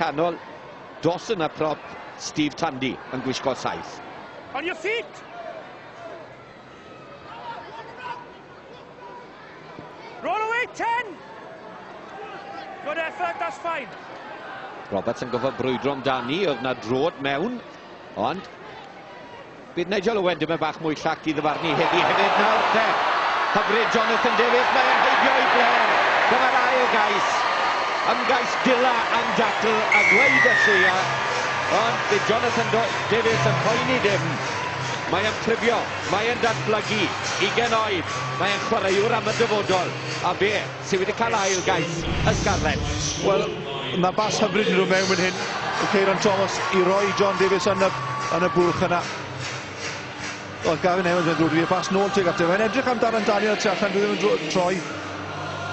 Canol, Dawson a prop, Steve Tandy yn gwisgo 7. On your feet! Roll away, 10! Good effort, that's fine. Roberts yn gofod brwydro amdani, oedd na drod mewn, ond bydd Nigel Owen dim yn bach mwy llac i ddyfarnu heddi hefyd nawr te. Hyfryd Jonathan Davies, mae'n heibio i Blair. Dyma'r ail gais. Ymgais dila am dacl a gweud y lleia. Ond bydd Jonathan Davies yn poeni dim. Mae'n prifio, mae'n datblygu, 20 oed, mae'n chwaraewr am y dyfodol. A fe sydd wedi cael ail gais y Scarlets. Wel, na bas hyfryd yn dod mewn fan hyn. Ceiron Thomas i roi John Davies yn y bwlch yna. Oedd Gavin Evans yn ddrwg i bas nôl tuag ato. Mae'n edrych am Darren Daniel tu allan, dwi ddim yn troi.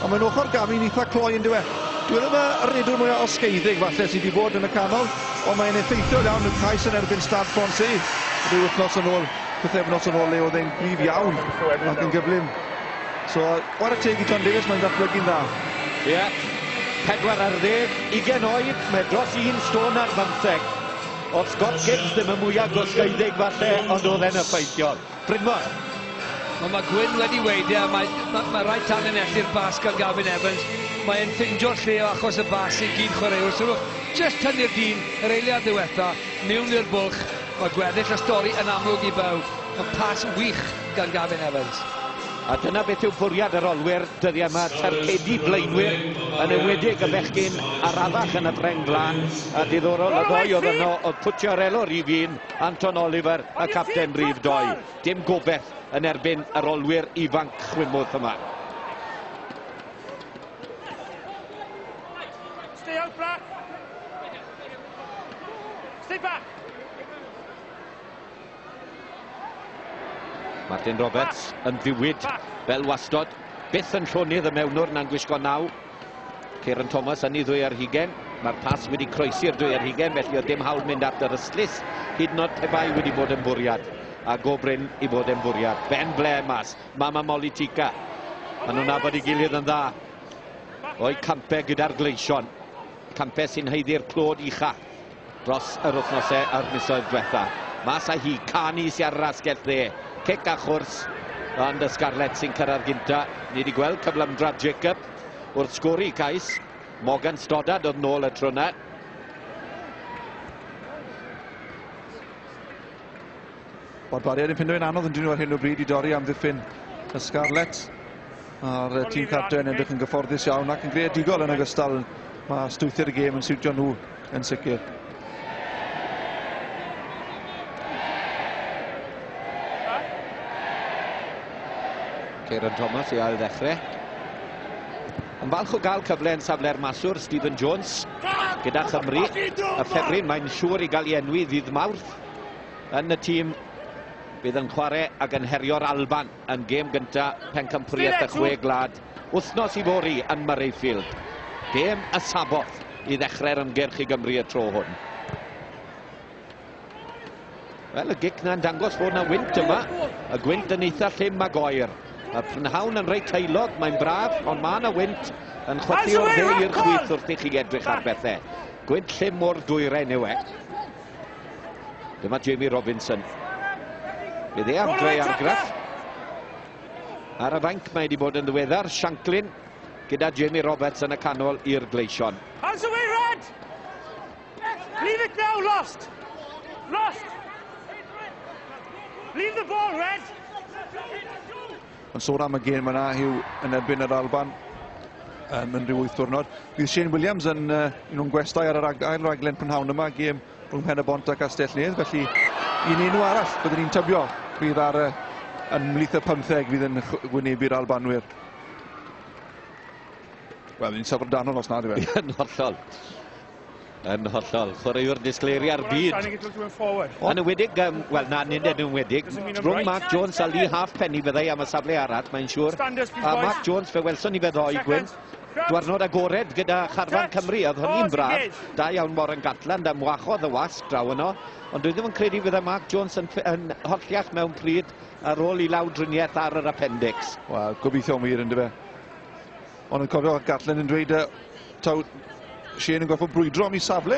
Ond mae'n ochr Gavin eitha cloi yn dywe. Dwi ddim y redwr mwyaf osgeiddig falle sydd wedi bod yn y canol, ond mae'n effeithiol iawn y cais yn erbyn Stade Français. Rhyw wythnos yn ôl, pythefnos yn ôl, le oedd e'n gryf iawn ac yn gyflym. So, chwarae teg i John Davies, mae'n datblygu'n dda. Ie, yeah. 4 ar 10, 20 oed, mae dros 1 stôn ar 15. Oedd Scott Gibbs ddim y mwyaf gosgeiddig falle, ond oedd e'n effeithiol. Brynmor. Wel, mae Gwyn wedi weud, e, mae rhaid tanlinellu'r bas gan Gavin Evans. Mae'n ffeindio'r lle o achos y bas i gyd chwaraewr. Sylwch, jyst tynnu'r dyn, yr eiliad ddiwetha, mewn i'r bwlch. Mae gweddill y stori yn amlwg i bawb. Mae pas wych gan Gavin Evans. A dyna beth yw bwriad yr olwyr dyddiau yma, targedu blaenwyr, yn enwedig y bechgyn arafach yn y rheng flaen. A diddorol y ddoi oedd yno, oedd Pucciarello rhif 1, Anton Oliver y capten rhif 2. Dim gobeith yn erbyn yr olwyr ifanc chwimwth yma. Stay out, Black. Stay back. Martin Roberts yn ddiwyd fel wastod. Byth yn llonydd y mewnwr na'n gwisgo 9. Ceiron Thomas yn ei 2 ar 20. Mae'r pas wedi croesi'r 2 ar 20, felly oedd dim hawl mynd at yr ystlys, hyd yn oed pe bai wedi bod yn fwriad. A go brin i fod yn fwriad. Ben Blair mas, Mama Molitika. Maen nhw'n nabod ei gilydd yn dda. O'i campau gyda'r gleision. Campau sy'n haeddu'r clod ucha dros yr wythnosau a'r misoedd diwetha. Mas â hi, Cani sy'n ar yr asgell dde. Cic a chwrs, ond y Scarlets sy'n cyrraedd gynta. Ni wedi gweld cyflymdra Jacob wrth sgori cais. Morgan Stoddard oedd nôl y tro yna. Barbariaid yn ffindo yn anodd yn dyn nhw ar hyn o bryd i dorri amddiffyn y Scarlets. A'r tîm cartre yn edrych yn gyfforddus iawn ac yn greadigol yn ogystal. Mae strwythur y gêm yn siwtio nhw yn sicr. Ceiron Thomas i ail ddechrau. Yn falch o gael cyfle yn safle'r maswr, Stephen Jones, gyda Chymru. Y ffefryn, mae'n siŵr i gael ei enwi ddydd Mawrth yn y tîm bydd yn chwarae ac yn herio'r Alban yn gêm gyntaf pencampwriaeth y 6 gwlad wythnos i fory yn Murrayfield. Gêm y Saboth i ddechrau'r ymgyrch i Gymru y tro hwn. Wel, y gic na'n dangos fod na wynt yma. Y gwynt yn eitha llym ag oer. Y prynhawn yn reit heulog, mae'n braf, ond mae yna wynt yn chwythu o'r dde i'r chwith wrth i chi edrych ar bethau. Gwynt llym o'r dwyrain yw e. Dyma Jamie Robinson. Bydd e am greu argraff. Ar y fainc mae wedi bod yn ddiweddar, Shanklin gyda Jamie Roberts yn y canol i'r Gleision. Hands away, Red! Leave it now, lost! Lost! Leave the ball, Red! Yn sôn am y gêm yna, Hugh, yn erbyn yr Alban yn rhyw 8 diwrnod. Bydd Shane Williams yn un o'n gwestai ar yr ail raglen prynhawn yma, gêm rhwng Pen-y-bont a Castell-nedd. Felly, un enw arall byddwn ni'n tybio fydd ar yn ymhlith y 15 fydd yn wynebu'r Albanwyr. Wel, ni'n syfrdanol os nad yw e. Yn hollol. Yn hollol. Chwaraewr disgleiriau'r byd. Yn enwedig, wel na, nid yn enwedig, rhwng Mark Jones a Lee Halfpenny fyddai am y safle arall, mae'n siŵr. A Mark Jones, fe welson ni fe ddoe, Gwyn. Dwarnod agored gyda charfan Cymru, oedd hynny'n braf. Da iawn Warren Gatland am wahodd y wasg draw yno. Ond dwi ddim yn credu fydde Mark Jones yn holliach mewn pryd ar ôl i lawdriniaeth ar yr appendix. Wel, gobeithio wir, yndyfe. Ond yn cofio Gatland yn dweud, taw, Shane yn gorfod brwydro am ei safle.